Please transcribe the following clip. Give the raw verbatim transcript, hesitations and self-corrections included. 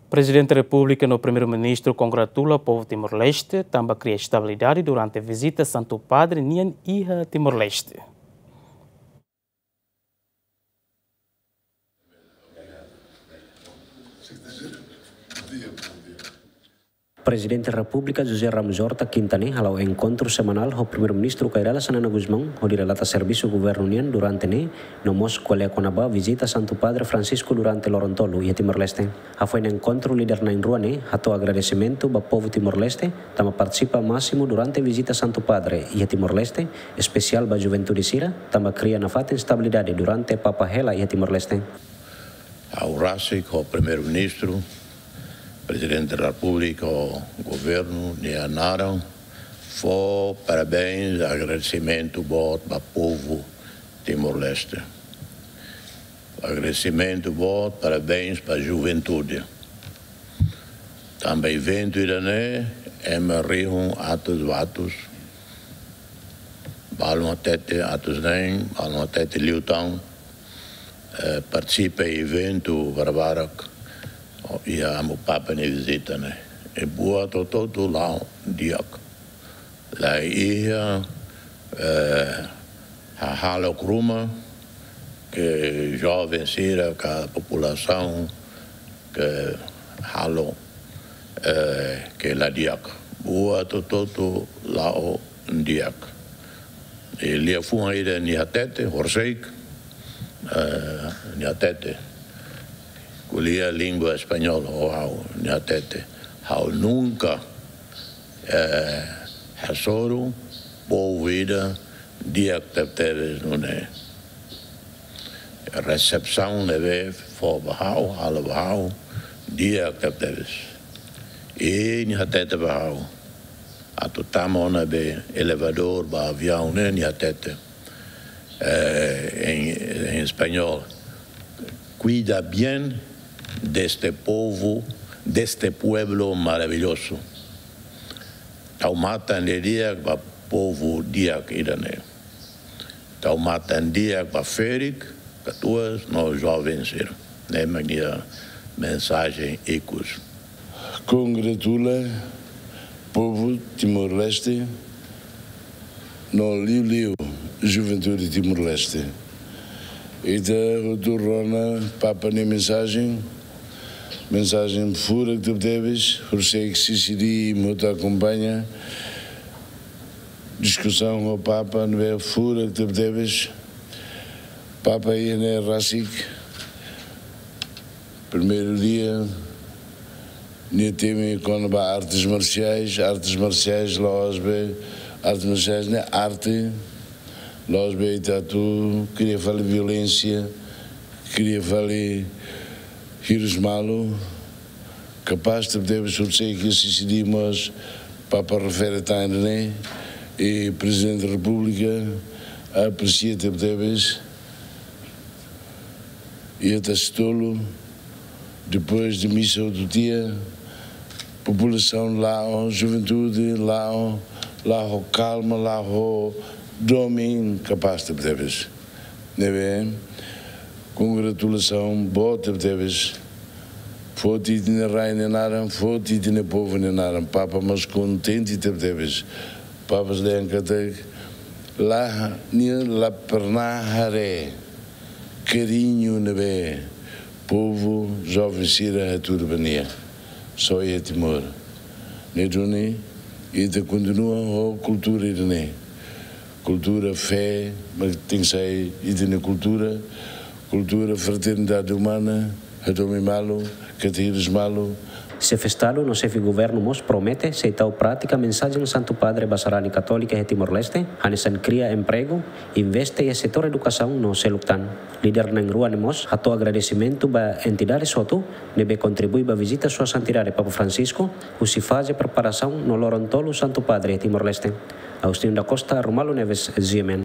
Prezidente Repúblika no Primeiru-Ministru kongratula povu Timor-Leste tanba kria estabilidade durante vizita Santu Padre nian iha Timor-Leste. Prezidente Repúblika José Ramos Horta kinta ne'e hala'o enkontru semanál ho Primeiru-Ministru Kay Rala Xanana Gusmão, hodi relata servisu governu nian durante ne'e, no mós ko'alia kona-ba vizita Santu Padre Francisco durante loron tolu iha Timor-Leste. Hafoin enkontru, líder na'in-rua ne'e hato'o agradesimentu ba povu Timor-Leste tanba partisipa másimu durante vizita Santu Padre iha Timor-Leste, espesiál ba juventude sira, tanba kria nafatin estabilidade durante Papa hela iha Timor-Leste. Ha'u rasik ho Primeiru-Ministru, Prezidente Repúblika ho governu nia naran fó parabéns, agradesimentu boot ba povu Timor-Leste. Agradesimentu boot, parabéns ba juventude. Tanba eventu ida-ne'e, ema rihun atus ba atus. Balun hatete atus neen, balun hatete liután, eh, partisipa eventu barbarak, iha Amu Papa nia vizita ne'e. I buat hotu-hotu la'o di'ak. La iha, eh, hahalok ruma ke joven sira ka populasaun ke halo, eh, ke la di'ak. Buat hotu-hotu la'o di'ak. I liafuan ida nia hatete, horisehik, eh, nia hatete. Ko'alia língua espanhol ho ha'u, nia hatete. Ha'u nunka, eh, hasoru povu ida di'ak tebetebes nune'e. Resepsaun ne'ebé fó ba ha'u, halo ba ha'u, di'ak tebetebes. I nia hatete ba ha'u, atu tama ona ba elevadór ba aviaun ne'e, nia hatete, eh, em, em espanhol, "Cuida bien de este povo, de este pueblo maravilhoso." Tau matan didi'ak ba povu di'ak ida-ne'e. Tau matan di'ak ba ferik, katuas no joven sira. Ne'e mak nia mensajen ikus. Kongratula povu Timor-Leste no liuliu juventude Timor-Leste. Ita hotu rona Papa nia mensajen, mensajen furak tebetebes, horisehik sisi di muta akompaña diskusaun ho Papa ne'ebé furak tebetebes. Papa iha ne'e rasik, primeiru dia, nia temi kona-ba artes marsiais, artes marsiais la'ós be, artes marsiais ne'e arte, la'ós be ita atu kria fali violénsia, kria fali hirus malu, kapás tebetebes, horisehik sisi di mós Papa refere tan ne'e, i Prezidente Repúblika apresia tebetebes, iha Tasi Tolu, depois de misa hotu tiha, populasaun la'o, juventude la'o, la'o ho kalma, la'o ho domin, kapás tebetebes. Ne'ebé, kongratulasaun boot tebetebes. Foti ita-nia rai nia naran, foti ita-nia povu nia naran. Papa mós kontente tebetebes. Papa dehan katak la, nia la pernah haree kariñu ne'ebé povu, joven sira hatudu ba nia. Só iha Timor. Ne'e duni, ita kontinua ho kultura ida-ne'e. Kultura, fé, mak tenke sai ita-nia kultura, kultura, fraternidade umana, hadomi malu, keta hirus malu. Xefe Estadu no Xefe Governu mós promete sei tau prátika mensajen Santu Padre ba sarani katólika iha Timor-Leste, hanesan kria empregu, investe iha setór edukasaun no seluk tan. Líder na'in-rua ne'e mós hato'o agradesimentu ba entidades hotu ne'ebé kontribui ba vizita Sua Santidade Papa Francisco, husi faze preparasaun no loron tolu Santu Padre iha Timor-Leste. Agostinho da Costa, Romualdo Neves, G M N.